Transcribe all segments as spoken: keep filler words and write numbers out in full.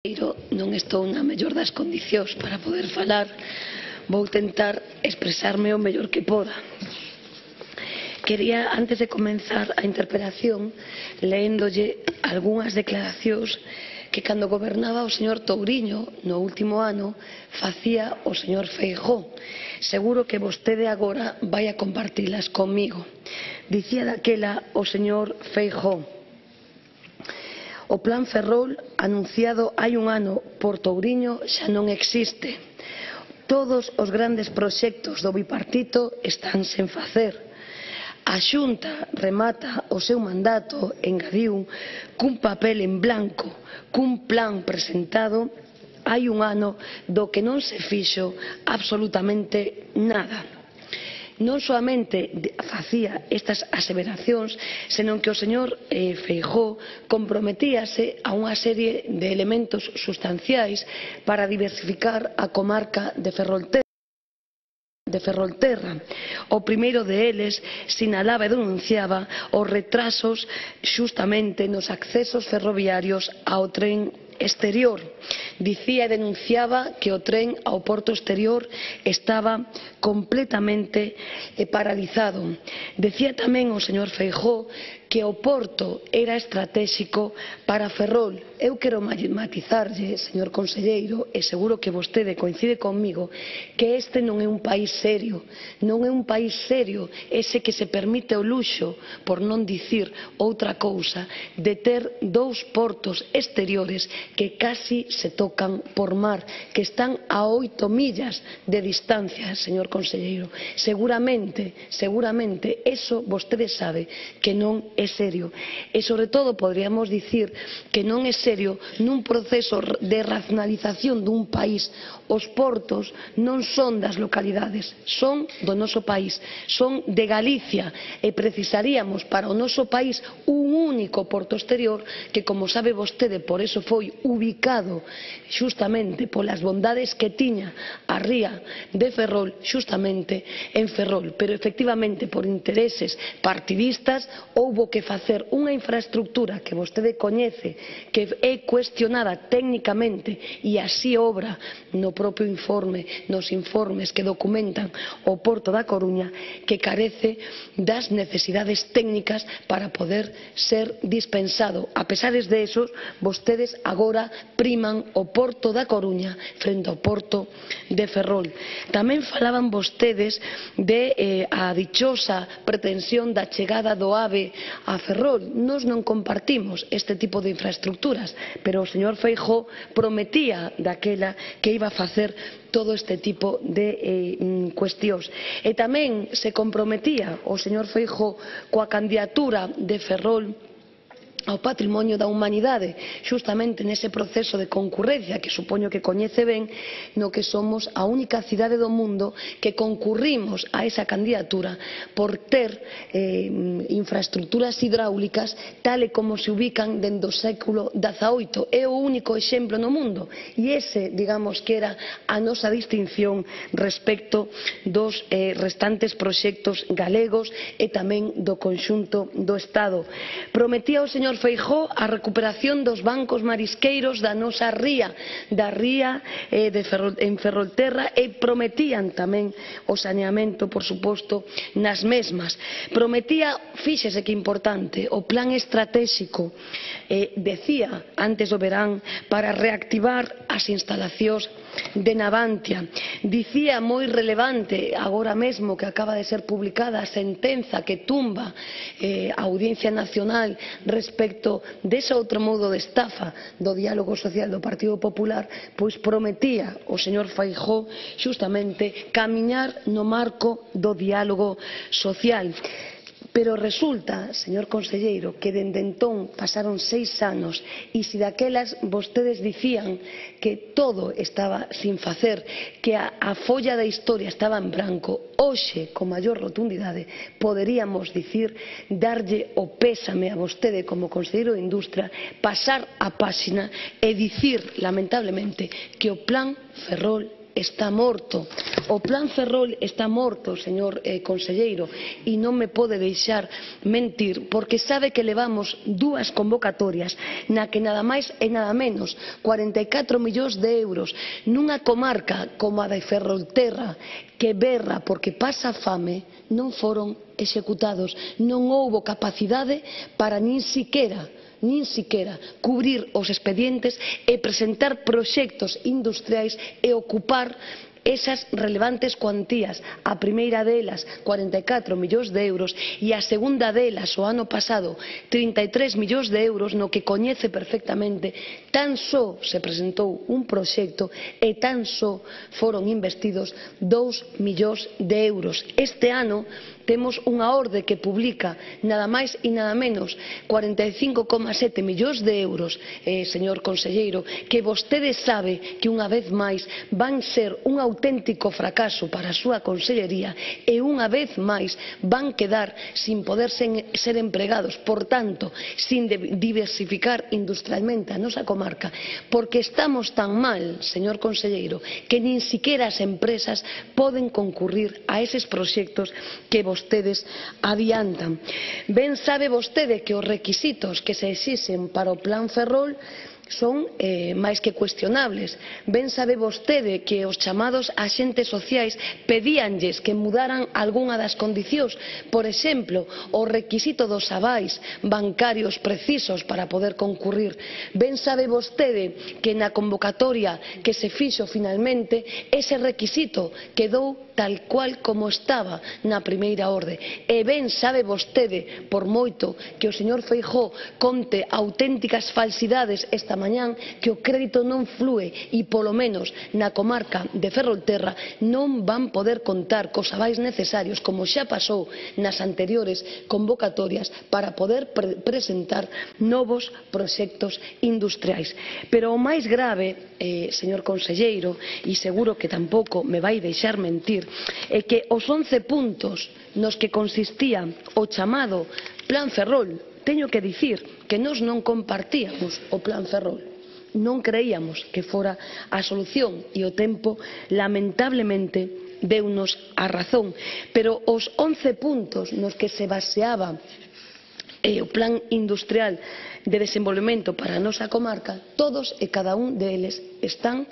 Non estou na mellor das condicións para poder falar, vou tentar expresarme o mellor que poda. Quería, antes de comenzar a interpelación, leéndolle algunhas declaracións que cando gobernaba o señor Touriño no último ano facía o señor Feijóo. Seguro que vostede agora vai a compartilas comigo. Dicía daquela o señor Feijóo: o plan Ferrol anunciado hai un ano por Touriño xa non existe. Todos os grandes proxectos do bipartito están sen facer. A Xunta remata o seu mandato, engadiu, cun papel en blanco, cun plan presentado hai un ano do que non se fixo absolutamente nada. Non soamente facía estas aseveracións, senón que o señor eh, Feijóo comprometíase a unha serie de elementos sustanciais para diversificar a comarca de Ferrolterra. de Ferrolterra. O primeiro deles sinalaba e denunciaba os retrasos xustamente nos accesos ferroviarios ao tren exterior. Dicía e denunciaba que o tren ao porto exterior estaba completamente paralizado. Decía tamén o señor Feijóo que o porto era estratéxico para Ferrol. Eu quero matizarlle, señor conselleiro, e seguro que vostede coincide comigo, que este non é un país serio, non é un país serio ese que se permite o luxo, por non dicir outra cousa, de ter dous portos exteriores que casi se tocan por mar, que están a oito millas de distancia, señor conselleiro. Seguramente, seguramente, eso vostede sabe que non é serio. E, sobre todo, poderíamos dicir que non é serio nun proceso de racionalización dun país. Os portos non son das localidades, son do noso país, son de Galicia, e precisaríamos para o noso país un único porto exterior que, como sabe vostede, por eso foi ubicado xustamente polas bondades que tiña a ría de Ferrol, xustamente en Ferrol. Pero, efectivamente, por intereses partidistas, houbo que facer unha infraestructura que vostede coñece, que é cuestionada técnicamente, e así obra no propio informe, nos informes que documentan o Porto da Coruña, que carece das necesidades técnicas para poder ser dispensado. A pesares de esos, vostedes agora priman o Porto da Coruña frente ao Porto de Ferrol. Tamén falaban vostedes de eh, a dichosa pretensión da chegada do AVE a Ferrol. Nós non compartimos este tipo de infraestructuras, pero o señor Feijóo prometía daquela que iba a facer todo este tipo de eh, cuestións. E tamén se comprometía o señor Feijóo coa candidatura de Ferrol ao patrimonio da humanidade, xustamente nese proceso de concurrencia que supoño que coñece ben, no que somos a única cidade do mundo que concurrimos a esa candidatura por ter eh, infraestructuras hidráulicas tal e como se ubican dende o século dezaoito. É o único exemplo no mundo, e ese, digamos, que era a nosa distinción respecto dos eh, restantes proxectos galegos e tamén do conxunto do Estado. Prometía o señor Feijóo a recuperación dos bancos marisqueiros da nosa ría, da ría eh, de Ferrol, en Ferrolterra, e prometían tamén o saneamento, por suposto, nas mesmas. Prometía, fíxese que importante, o plan estratéxico, eh, decía antes do verán, para reactivar as instalacións de Navantia. Dicía, moi relevante, agora mesmo que acaba de ser publicada a sentenza que tumba eh, a Audiencia Nacional respecto dese outro modo de estafa do diálogo social do Partido Popular, pois prometía o señor Feijóo xustamente camiñar no marco do diálogo social. Pero resulta, señor conselleiro, que dende entón pasaron seis anos, e se daquelas vostedes dicían que todo estaba sin facer, que a, a folla da historia estaba en branco, hoxe, con maior rotundidade, poderíamos dicir, darlle o pésame a vostede como conselleiro de Industria, pasar a páxina e dicir, lamentablemente, que o plan Ferrol está morto. O Plan Ferrol está morto, señor eh, conselleiro, e non me pode deixar mentir, porque sabe que levamos dúas convocatorias na que nada máis e nada menos cuarenta e catro millóns de euros nunha comarca como a de Ferrolterra, que berra porque pasa fame, non foron executados. Non houbo capacidade para nin siquera nin siquera cubrir os expedientes e presentar proxectos industriais e ocupar esas relevantes cuantías. A primeira delas, cuarenta e catro millóns de euros, e a segunda delas, o ano pasado, trinta e tres millóns de euros, no que coñece perfectamente. Tan só se presentou un proxecto e tan só foron investidos dous millóns de euros. Este ano temos unha orde que publica nada máis e nada menos cuarenta e cinco coma sete millóns de euros, eh, señor conselleiro, que vostede sabe que unha vez máis van ser un auténtico fracaso para a súa consellería e unha vez máis van quedar sin poder ser empregados, por tanto, sin diversificar industrialmente a nosa comarca, porque estamos tan mal, señor conselleiro, que nin siquiera as empresas poden concurrir a eses proxectos que vos vostedes adiantan. Ben sabe vostede que os requisitos que se exixen para o Plan Ferrol son eh, máis que cuestionables. Ben sabe vostede que os chamados axentes sociais pedíanlles que mudaran algunha das condicións, por exemplo, o requisito dos avais bancarios precisos para poder concurrir. Ben sabe vostede que na convocatoria que se fixo finalmente ese requisito quedou tal cual como estaba na primeira orde. E ben sabe vostede, por moito que o señor Feijóo conte auténticas falsidades esta mañán, que o crédito non flúe e polo menos na comarca de Ferrolterra non van poder contar cos avais necesarios, como xa pasou nas anteriores convocatorias, para poder pre presentar novos proxectos industriais. Pero o máis grave, eh, señor conselleiro, e seguro que tampouco me vai deixar mentir, é que os once puntos nos que consistía o chamado Plan Ferrol, teño que dicir que nós non compartíamos o Plan Ferrol, non creíamos que fora a solución e o tempo lamentablemente deunos a razón, pero os once puntos nos que se baseaba eh, o Plan Industrial de Desenvolvemento para a nosa comarca, todos e cada un deles están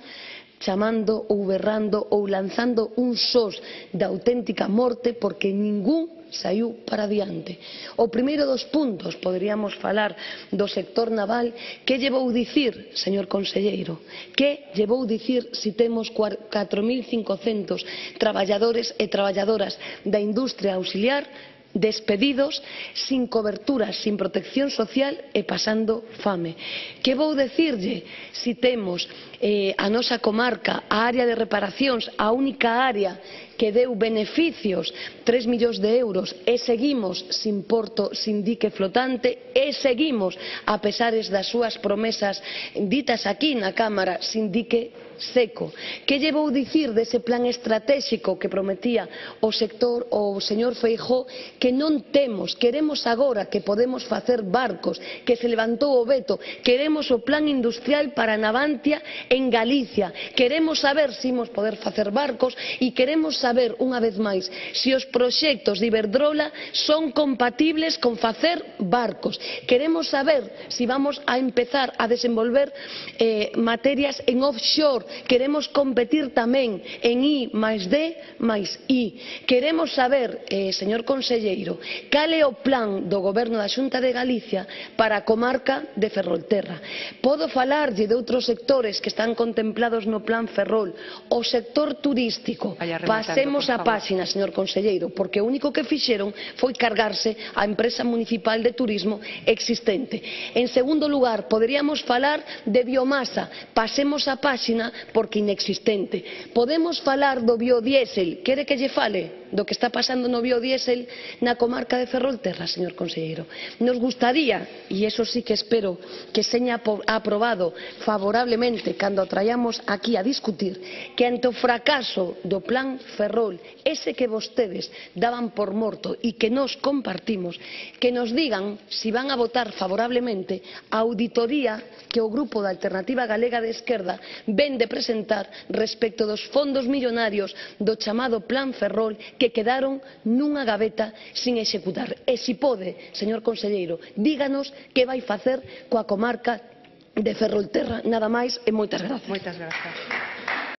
chamando ou berrando ou lanzando un sós de auténtica morte, porque ningún saiu para diante. O primeiro dos puntos, poderíamos falar do sector naval. Que llevou dicir, señor conselleiro? Que llevou dicir si temos catro mil cincocentos traballadores e traballadoras da industria auxiliar despedidos, sin cobertura, sin protección social e pasando fame? Que vou dicirlle si temos eh, a nosa comarca, a área de reparacións, a única área que deu beneficios, tres millóns de euros, e seguimos sin porto, sin dique flotante, e seguimos, a pesares das súas promesas ditas aquí na Cámara, sin dique seco? Que lle vou dicir dese plan estratégico que prometía o sector o señor Feijóo, que non temos? Queremos agora que podemos facer barcos, que se levantou o veto, queremos o plan industrial para Navantia en Galicia, queremos saber se imos poder facer barcos e queremos saber unha vez máis se os proxectos de Iberdrola son compatibles con facer barcos, queremos saber se vamos a empezar a desenvolver eh, materias en offshore, queremos competir tamén en I máis D máis I. Queremos saber, eh, señor conselleiro, cal é o plan do Goberno da Xunta de Galicia para a comarca de Ferrolterra. Podo falarlle de outros sectores que están contemplados no Plan Ferrol, o sector turístico. Pasemos a páxina, señor conselleiro, porque o único que fixeron foi cargarse a empresa municipal de turismo existente. En segundo lugar, poderíamos falar de biomasa. Pasemos a páxina, porque inexistente. Podemos falar do biodiésel. Quere que lle fale? do que está pasando no biodiésel na comarca de Ferrolterra, señor conselleiro. Nos gustaría, e iso sí que espero que seña aprobado favorablemente cando o traíamos aquí a discutir, que ante o fracaso do plan Ferrol, ese que vostedes daban por morto e que nos compartimos, que nos digan si van a votar favorablemente a auditoría que o Grupo da Alternativa Galega de Esquerda ven de presentar respecto dos fondos millonarios do chamado Plan Ferrol que quedaron nunha gaveta sin executar. E se pode, señor conselleiro, díganos que vai facer coa comarca de Ferrolterra. Nada máis e moitas grazas. Moitas grazas.